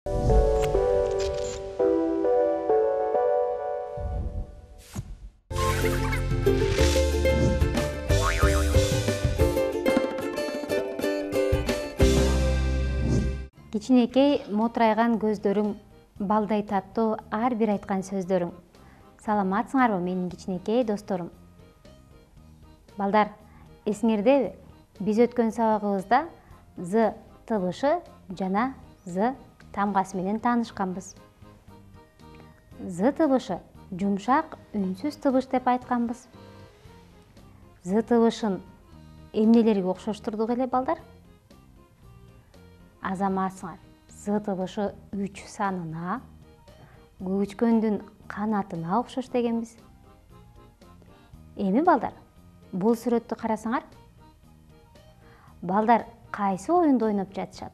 Кичинекей мотурайган көздөрүң, балдай таттуу ар бир айткан сөздөрүң. Саламатсыңарбы менин кичинекей досторум? Балдар, эсиңердеби? Биз өткөн сабагыбызда з табышы жана з тамгасы менен таанышканбыз. З табышы жумшак, үнсүз табыш деп айтканбыз. З табышын эмнелерге окшоштурдук эле балдар? Азаматсыңар. З табышы 3 санына, көчкөндүн канатына окшош дегенбиз. Эми балдар, бул сүрөттү карасаңар, балдар кайсы оюнду ойноп жатышат?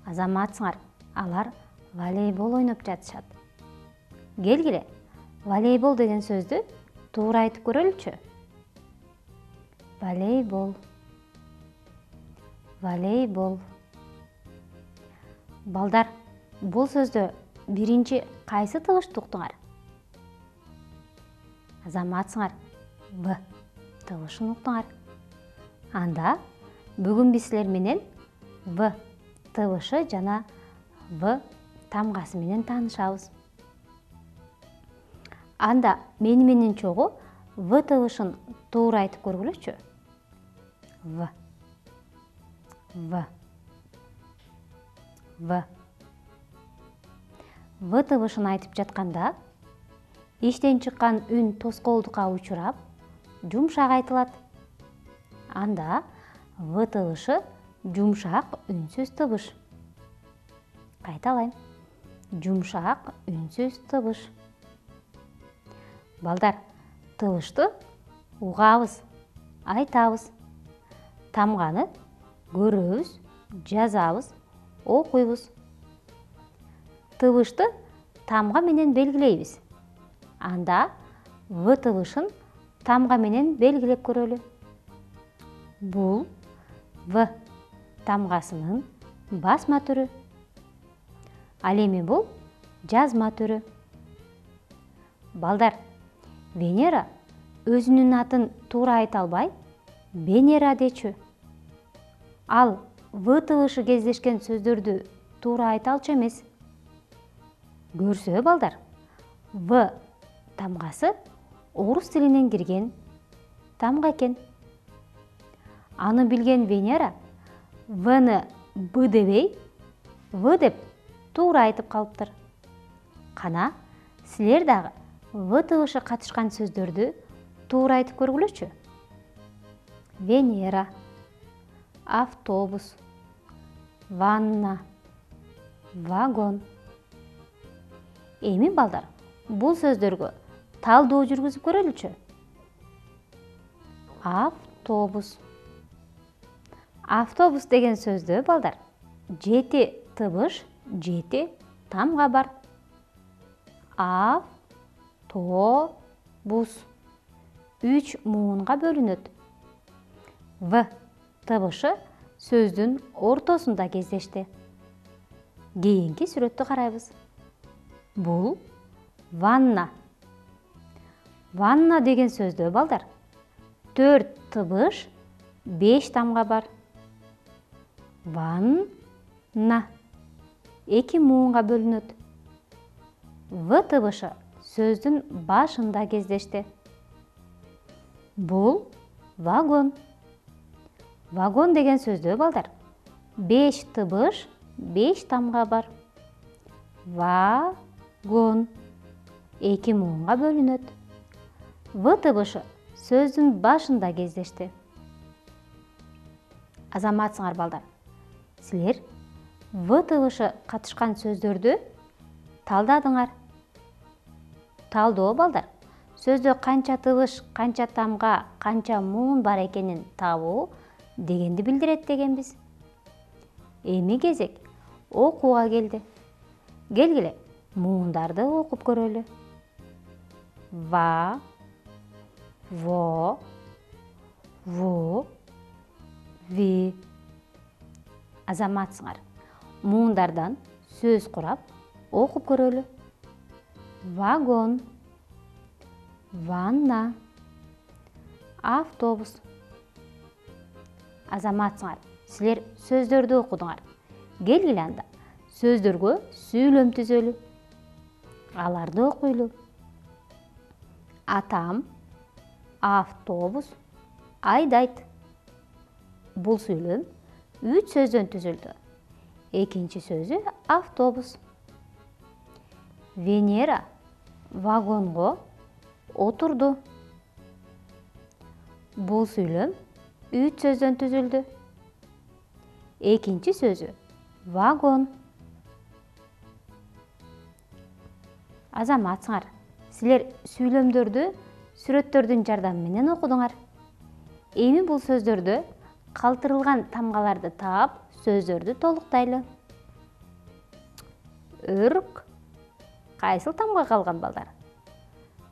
Азаматсыңар, алар волейбол ойноп жатышат. Келгиле, волейбол деген сөздү туура айтып көрөлүчү. Волейбол. Волейбол. Балдар, бул сөздө биринчи кайсы табышты уктуңар? Азаматсыңар, В табышын уктуңар. Анда бүгүн биз силер менен В табышы жана В тамгасы менен таанышабыз. Анда мени менен чогуу В табышын туура айтып көргүлөчү. В. В. В. В табышын айтып жатканда иштен чыккан үн тоскоолдукка учурап, жумшак айтылат. Анда В табышы жумшак, үнсүз табыш. Кайталайм. Жумшак, үнсүз табыш. Балдар, табышты угабыз, айтабыз. Тамганы көрөбүз, жазабыз, окуйбуз. Табышты тамга менен белгилейбиз. Анда В табышын тамга менен белгилеп көрөлү. Бул В тамгасынын басма түрү. Ал эми бул жазма түрү. Балдар, Венера өзүнүн атын туура айта албай, Венера дечү. Ал В табышы кездешкен сөздөрдү туура айта алчу эмес. Көрсө балдар, В тамгасы орус тилинен кирген тамга экен. Аны билген Венера Вны Б дебей, В деп туура айтып калыптыр. Кана, силер дагы В табышы катышкан сөздөрдү туура айтып көргүлөчү. Венера, автобус, ванна, вагон. Эми балдар, бул сөздөргө талдоо жүргүзүп көрөлүчү. Автобус. Автобус деген сөздө балдар 7 табыш, 7 тамга бар. Автобус 3 муунга бөлүнөт. В табышы сөздүн ортосунда кездешти. Кийинки сүрөттү карайбыз. Бул ванна. Ванна деген сөздө балдар 4 табыш, 5 тамга бар. Ванна 2 муунга бөлүнөт. В табышы сөздүн башында кездешти. Бул вагон. Вагон деген сөздө балдар 5 табыш, 5 тамга бар. Вагон 2 муунга бөлүнөт. В табышы сөздүн башында кездешти. Азаматсыңар балдар, силер В табышы катышкан сөздөрдү талдадыңар. Талдоо балдар, сөздө канча табыш, канча тамга, канча муун бар экенин табуу дегенди билдирет дегенбиз. Эми кезек окууга келди. Келгиле, муундарды окуп көрөлү. Va, vo, vu, vi. Азаматсыңар. муундардан сөз курап окуп көрөлү. Вагон, ванна, автобус. Азаматсыңар, силер сөздөрдү окудуңар. Келгиле анда сөздөргө сүйлөм түзөлү. Аларды окуйлу. Атам автобус айдайт. Бул сүйлөм 3 сөздөн түзүлдү. Экинчи сөзү автобус. Венера вагонго отурду. Бул сүйлөм 3 сөздөн түзүлдү. Экинчи сөзү вагон. Азаматсыңар, силер сүйлөмдөрдү сүрөттөрдүн жардамы менен окудуңар. Эми бул сөздөрдө калтырылган тамгаларды таап, сөздөрдү толуктайлы. Өрүк кайсыл тамга калган балдар?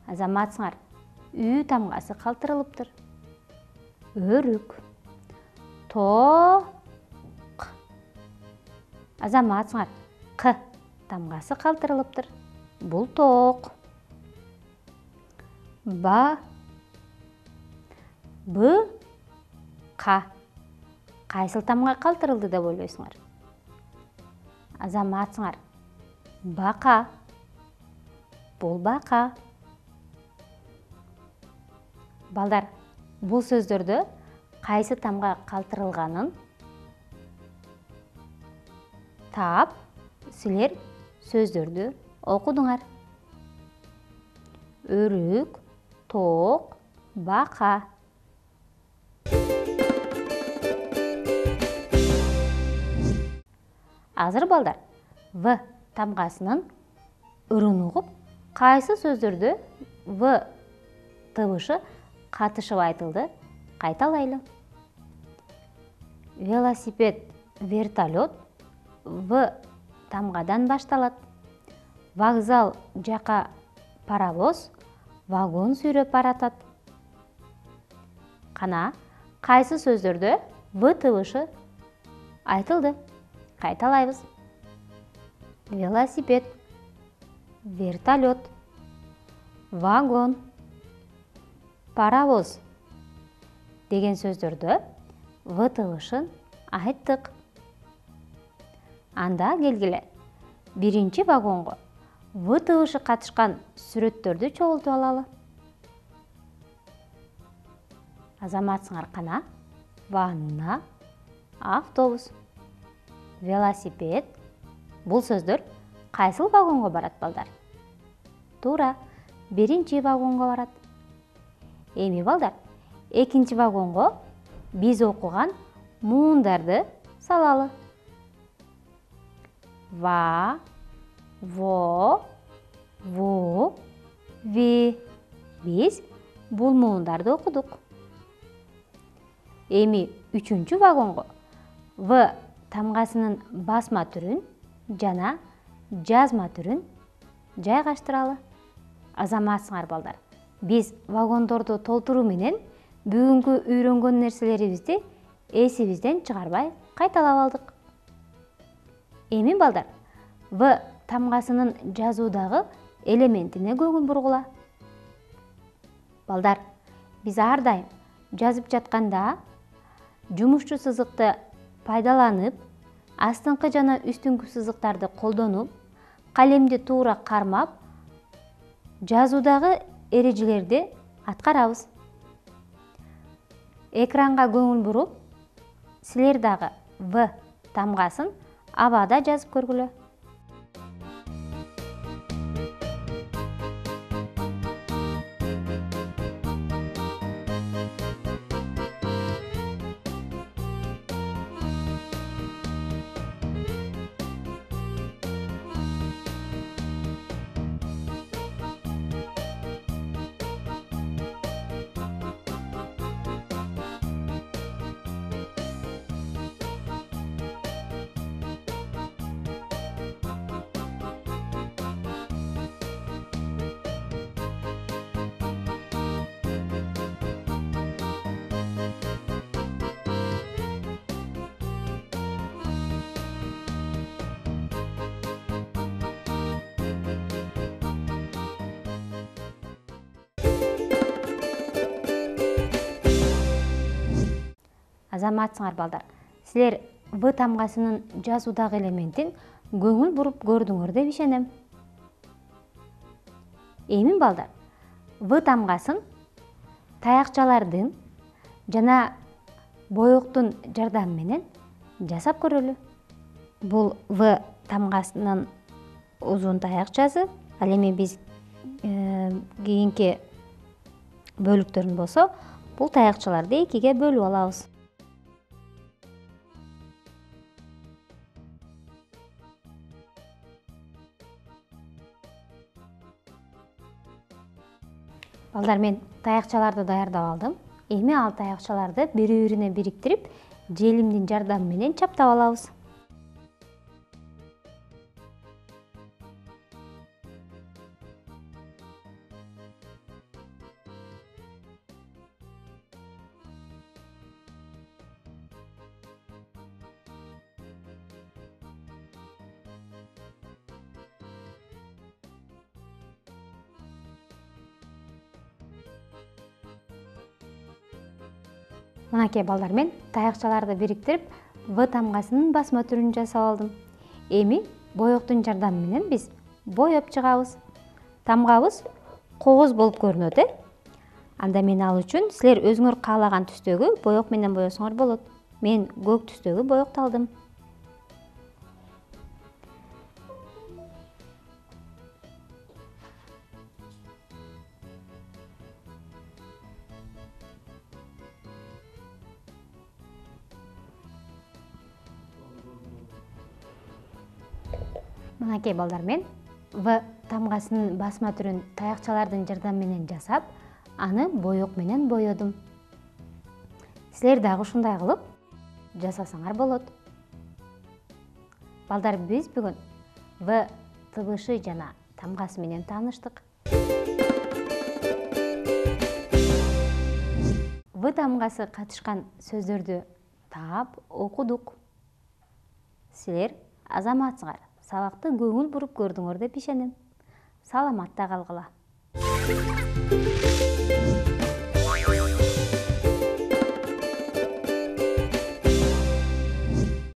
Азаматсыңар, үй тамгасы калтырылыптыр. Өрүк. Тоок. Азаматсыңар, к тамгасы калтырылыптыр. Бул тоок. Ба. Б. Ка. Кайсыл тамга калтырылды деп ойлойсуңар? Азаматсыңар, бака. Бул бака. Балдар, бул сөздөрдө кайсы тамга калтырылганын таап, силер сөздөрдү окудуңар. Өрүк, тоок, бака. Азыр балдар, В тамгасынын ырын угуп, кайсы сөздөрдө В табышы катышып айтылды, кайталайлы. Велосипед, вертолет В тамгадан башталат. Вокзал жака паровоз, вагон сүйрөп баратат. Кана, кайсы сөздөрдө В табышы айтылды? Кайталайбыз. Велосипед, вертолет, вагон, паровоз деген сөздөрдө В табышын айттык. Анда келгиле биринчи вагонго В табышы катышкан сүрөттөрдү чогултуп алалы. Азаматсыңар, кана? Ванна, автобус, велосипед. Бул сөздөр кайсыл вагонго барат балдар? Туура, биринчи вагонго барат. Эми балдар, экинчи вагонго биз окуган муундарды салалы. Va, vo, vu, vi. Биз бул муундарды окудук. Эми үчүнчү вагонго В тамгасынын басма түрүн жана жазма түрүн жайгаштыралы. Азаматсыңар балдар, биз вагондорду толтуруу менен бүгүнкү үйрөнгөн нерселерибизди эсибизден чыгарбай кайталап алдык. Эми балдар, В тамгасынын жазуудагы элементине көңүл бургула. Балдар, биз ар дайым жазып жатканда жумушчу сызыкты пайдаланып, астыңкы жана үстүңкү сызыктарды колдонуп, калемди туура кармап, жазуудагы эрежелерди аткарабыз. Экранга көңүл буруп, силер дагы В тамгасын абада жазып көргүлө. Азаматсыңар балдар. Силер В тамгасынын жазуудагы элементин көңүл буруп көрдүңөр деп ишенем. Эми балдар, В тамгасын таякчалардын жана боектун жардамы менен жасап көрөлү. Бул В тамгасынын узун таякчасы. Ал эми биз кийинки бөлүктөрүн болсо, бул таякчаларды экиге бөлүп алабыз. Балдар, мен таякчаларды даярдап алдым. Эми ал таякчаларды бири-бирине бириктирип, желимдин жардамы менен чаптап алабыз. Мынакей балдар, мен таякчаларды бириктирип, В тамгасынын басма түрүн жасап алдым. Эми боектун жардамы менен биз боеп чыгабыз. Тамгабыз кооз болуп көрүнөт, Анда мен ал үчүн силер өзүңөр каалаган түстөгү боек менен боесоңор болот. Мен көк түстөгү боекти алдым. Мынакей балдар, мен В тамгасынын басма түрүн таякчалардын жардамы менен жасап, аны боек менен боедум. Силер дагы ушундай кылып жасасаңар болот. Балдар, биз бүгүн В тыбышы жана тамгасы менен тааныштык. В тамгасы катышкан сөздөрдү таап окудук. Силер азаматсыңар, сабакты көңүл буруп көрдүңөр деп ишенем. Саламатта калгыла.